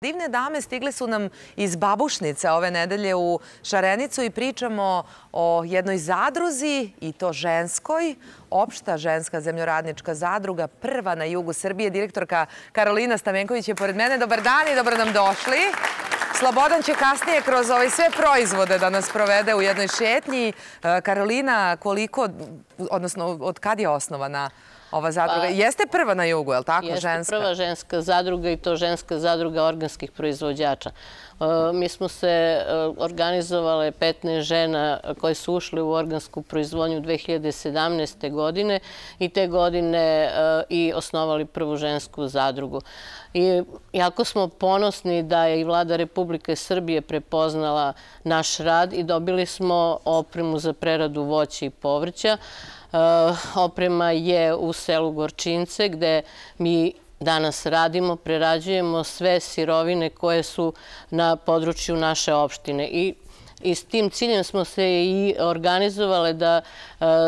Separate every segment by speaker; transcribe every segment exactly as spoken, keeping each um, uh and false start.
Speaker 1: Divne dame stigle su nam iz Babušnice ove nedelje u Šarenicu i pričamo o jednoj zadruzi, i to ženskoj, opšta ženska zemljoradnička zadruga, prva na jugu Srbije. Direktorka Karolina Stamenković je pored mene. Dobar dan i dobro nam došli. Slobodan će kasnije kroz ove sve proizvode da nas provede u jednoj šetnji. Karolina, koliko, odnosno od kad je osnovana ova zadruga? Jeste prva na jugu, je li tako?
Speaker 2: Jeste prva ženska zadruga i to ženska zadruga organskih proizvođača. Mi smo se organizovale petnaest žena koje su ušle u organsku proizvodnju dve hiljade sedamnaeste. godine i te godine i osnovali prvu žensku zadrugu. I jako smo ponosni da je i Vlada Republike Srbije prepoznala naš rad i dobili smo opremu za preradu voća i povrća. Oprema je u selu Gorčince gde mi danas radimo, prerađujemo sve sirovine koje su na području naše opštine. I I s tim ciljem smo se i organizovale da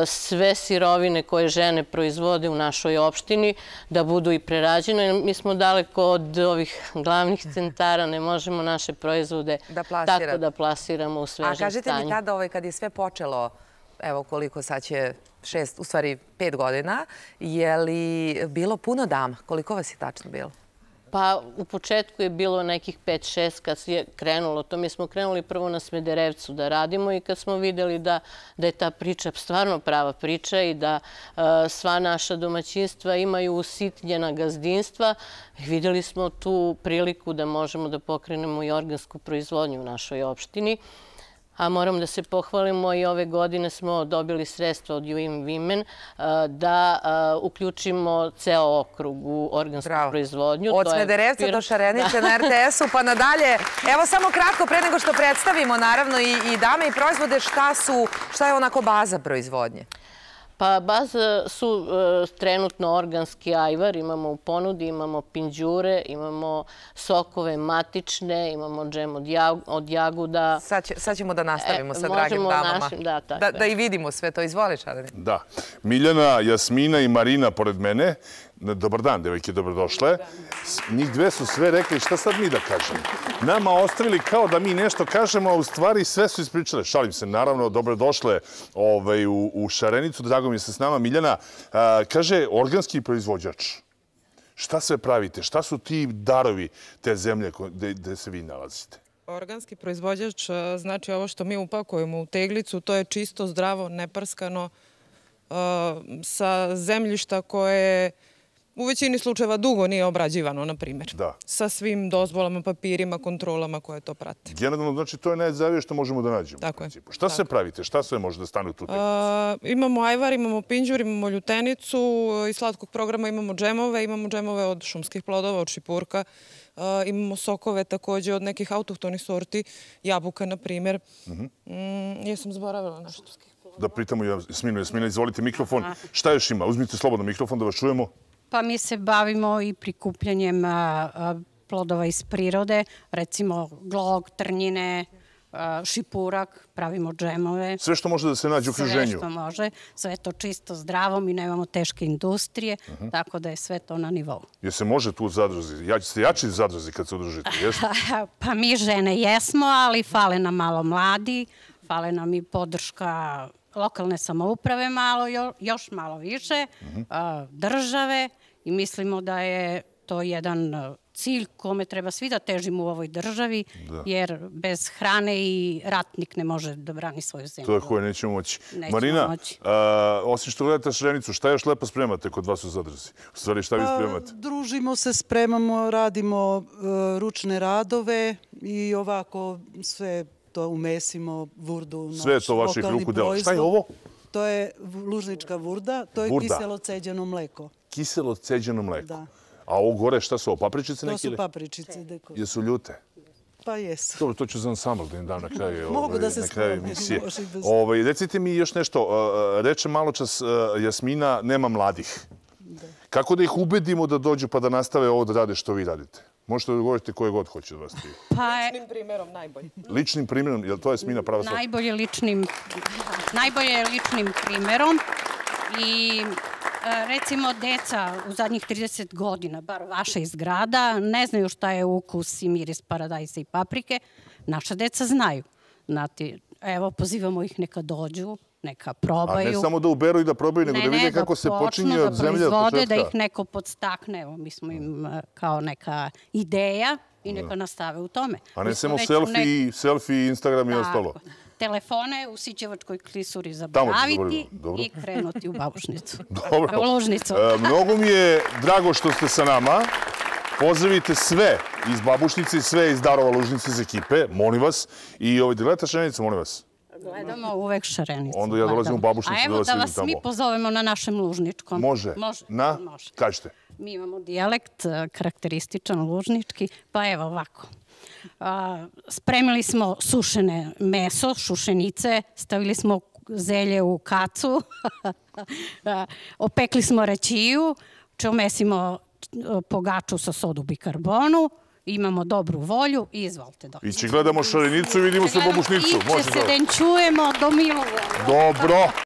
Speaker 2: sve sirovine koje žene proizvode u našoj opštini da budu i prerađene. Mi smo daleko od ovih glavnih centara, ne možemo naše proizvode tako da plasiramo u svežem stanju.
Speaker 1: A kažete mi tada, kad je sve počelo, evo koliko sad će šest, u stvari pet godina, je li bilo puno dama? Koliko vas je tačno bilo?
Speaker 2: Pa u početku je bilo nekih pet šest kad je krenulo to. Mi smo krenuli prvo na Smederevcu da radimo i kad smo vidjeli da je ta priča stvarno prava priča i da sva naša domaćinstva imaju usitnjena gazdinstva, vidjeli smo tu priliku da možemo da pokrenemo i organsku proizvodnju u našoj opštini. A moram da se pohvalimo i ove godine smo dobili sredstva od U N Women da uključimo ceo okrug u organsku proizvodnju.
Speaker 1: Od Smederevca do Šarenice na R T S-u pa nadalje. Evo samo kratko, pre nego što predstavimo naravno i dame i proizvode, šta je onako baza proizvodnje?
Speaker 2: Pa baza su trenutno organski ajvar, imamo u ponudi, imamo pinđure, imamo sokove matične, imamo džem od jaguda.
Speaker 1: Sad ćemo da nastavimo sa dragim damama. Da i vidimo sve to. Izvoli, Šareni.
Speaker 3: Da. Miljana, Jasmina i Marina pored mene. Dobar dan, devojke, dobrodošle. Njih dve su sve rekli šta sad mi da kažemo. Nama ostavili kao da mi nešto kažemo, a u stvari sve su ispričale. Šalim se, naravno, dobrodošle u Šarenicu. Drago mi je se s nama. Miljana, kaže, organski proizvođač. Šta sve pravite? Šta su ti darovi te zemlje gde se vi nalazite?
Speaker 4: Organski proizvođač znači ovo što mi upakujemo u teglicu. To je čisto, zdravo, neprskano, sa zemljišta koje u većini slučajeva dugo nije obrađivano, na primjer. Sa svim dozvolama, papirima, kontrolama koje to prate.
Speaker 3: Generalno, znači, to je najzdravije što možemo da nađemo.
Speaker 4: Tako je.
Speaker 3: Šta sve pravite? Šta sve može da stane u tu teglicu?
Speaker 4: Imamo ajvar, imamo pinđur, imamo ljutenicu, iz slatkog programa imamo džemove, imamo džemove od šumskih plodova, od šipurka, imamo sokove također od nekih autohtonih sorti, jabuka, na primjer. Jesam zaboravila nešto.
Speaker 3: Da pritamo Jasminu. Jasmina, izvolite mikrofon. Šta još ima? Uzmite slobodno mikrofon da vas čujemo.
Speaker 5: Pa mi se bavimo i prikupljanjem plodova iz prirode, recimo glog, trnjine, šipurak, pravimo džemove.
Speaker 3: Sve što može da se nađe u okruženju?
Speaker 5: Sve što može. Sve to čisto, zdravo, mi nemamo teške industrije, tako da je sve to na nivou.
Speaker 3: Jer se može tu u zadruzi? Ste jači zadruzi kad se udružite, jeste?
Speaker 5: Pa mi žene jesmo, ali fale nam malo mladi, fale nam i podrška lokalne samouprave malo, još malo više, države i mislimo da je to jedan cilj kome treba svi da težimo u ovoj državi, jer bez hrane i ratnik ne može da brani svoju zemlju.
Speaker 3: To je koje nećemo moći. Marina, osim što gledate Šarenicu, šta još lepo spremate kod vas u zadruzi? U stvari, šta vi spremate?
Speaker 6: Družimo se, spremamo, radimo ručne radove i ovako sve to umesimo, vurdu,
Speaker 3: sve je to vaših ruku dela. Šta je ovo?
Speaker 6: To je lužnička vurda, to je kiselo ceđeno mleko.
Speaker 3: Kiselo ceđeno mleko?
Speaker 6: Da.
Speaker 3: A ovo gore šta su ovo, papričice neke?
Speaker 6: To su papričice.
Speaker 3: Jesu ljute?
Speaker 6: Pa jesu.
Speaker 3: Dobro, to ću za ansambl da im dam na kraju emisije.
Speaker 6: Mogu da se spremim.
Speaker 3: Recite mi još nešto. Reče malo čas Jasmina, nema mladih. Kako da ih ubedimo da dođu pa da nastave ovo da rade što vi radite? Možete da govorite koje god hoće od vas.
Speaker 4: Ličnim primjerom najbolje.
Speaker 3: Ličnim primjerom, je li to Jasmina prava stvar?
Speaker 5: Najbolje ličnim primjerom i Recimo, deca u zadnjih trideset godina, bar vaša iz grada, ne znaju šta je ukus i miris paradajza i paprike. Naša deca znaju. Znate, evo, pozivamo ih neka dođu, neka probaju.
Speaker 3: A ne samo da uberu i da probaju, nego da vide kako se počinje od zemlje od početka.
Speaker 5: Da ih neko podstakne. Evo, mi smo im kao neka ideja i neka nastave u tome.
Speaker 3: A ne samo selfie, selfie, Instagram i ostalo.
Speaker 5: Telefone u Sićevačkoj klisuri zaboraviti i krenuti u Babušnicu.
Speaker 3: Dobro.
Speaker 5: U Lužnicu.
Speaker 3: Mnogo mi je drago što ste sa nama. Pozdravite sve iz Babušnice i sve iz Darova Lužnice iz ekipe, molim vas. I ovaj gledate Šarenicu, molim vas.
Speaker 5: Gledamo uvek Šarenicu.
Speaker 3: Onda ja dolazim u Babušnicu da vas vidim tamo.
Speaker 5: A evo da vas mi pozovemo na našem Lužničkom.
Speaker 3: Može. Na? Kažete.
Speaker 5: Mi imamo dijalekt karakterističan lužnički, pa evo ovako. Spremili smo sušene meso, šušenice, stavili smo zelje u kacu, opekli smo račiju, čomesimo pogaču sa sodu bikarbonu, imamo dobru volju i izvolite doći.
Speaker 3: Ići gledamo Šarenicu i vidimo se u Babušnicu.
Speaker 5: Iće se den čujemo do milu.
Speaker 3: Dobro.